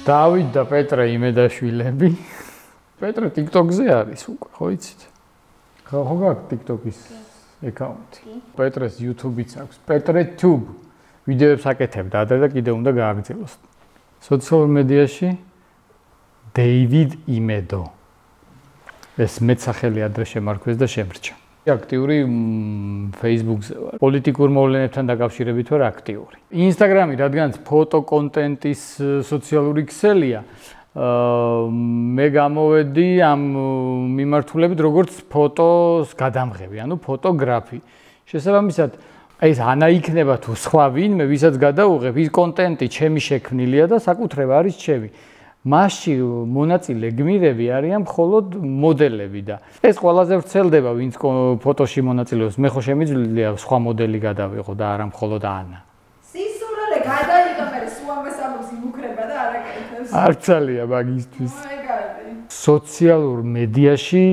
დავით და პეტრე იმედაშვილები. პეტრე TikTok-ზე არის უკვე, ხო იცით? ხო გაქვს TikTok-ის აკაუნტი. პეტრეს YouTube-იც აქვს. PetreTube. ვიდეოებს აკეთებდა ადრე და კიდევ უნდა გააგრძელოს. სოციალურ მედიაში David Imedo. ეს მეცახელი ადრე შემარქვეს და შემრჩა. აქტიური Facebook-ზე ვარ. პოლიტიკურ მოვლენებთან დაკავშირებით ვარ აქტიური. Instagram-ი, რადგანაც ფოტო კონტენტის სოციალური ქსელია, მე გამოვედი ამ მიმართულებით როგორც ფოტოს გადამღები, ანუ ფოტოგრაფი. შესაბამისად, ეს ანა იქნება თუ სხვა ვინმე, ვისაც გადაუღებ, ის კონტენტი ჩემი შექმნილია და საკუთრება არის ჩემი. მასში მონაწილე გმირები არიან მხოლოდ მოდელები და ეს ყველაზე ვრცელდება, ვინც ფოტოში მონაწილეობს. მე ხო შემიძლია სხვა მოდელი გადავიღო და არა მხოლოდ ანა. სისურველი გადაიღო, მე სულ ამას ამბობს იმუქრება და არ აკეთებს. არცალია მაგისთვის. სოციალურ მედიაში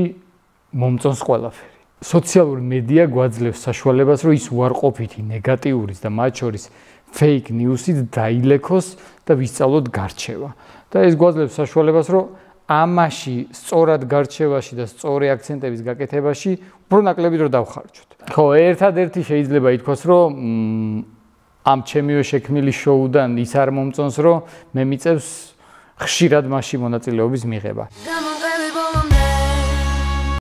მომწონს ყველაფერი. სოციალური მედია გვაძლევს საშუალებას, რომ ის უარყოფითი ნეგატიურის და მათ შორის fake news-ით დაილექოს და ვისწავლოთ გარჩევა. და ეს გვაძლევს საშუალებას, რომ ამაში სწორად გარჩევაში და სწორი აქცენტების გაკეთებაში უფრო ნაკლები დრო დავხარჯოთ. ხო, ერთადერთი შეიძლება ითქვას, რომ ამ ჩემივე შექმნილი შოუდან ის არ მომწონს, რომ მე მიწევს ხშირად მასში მონაწილეობის მიღება.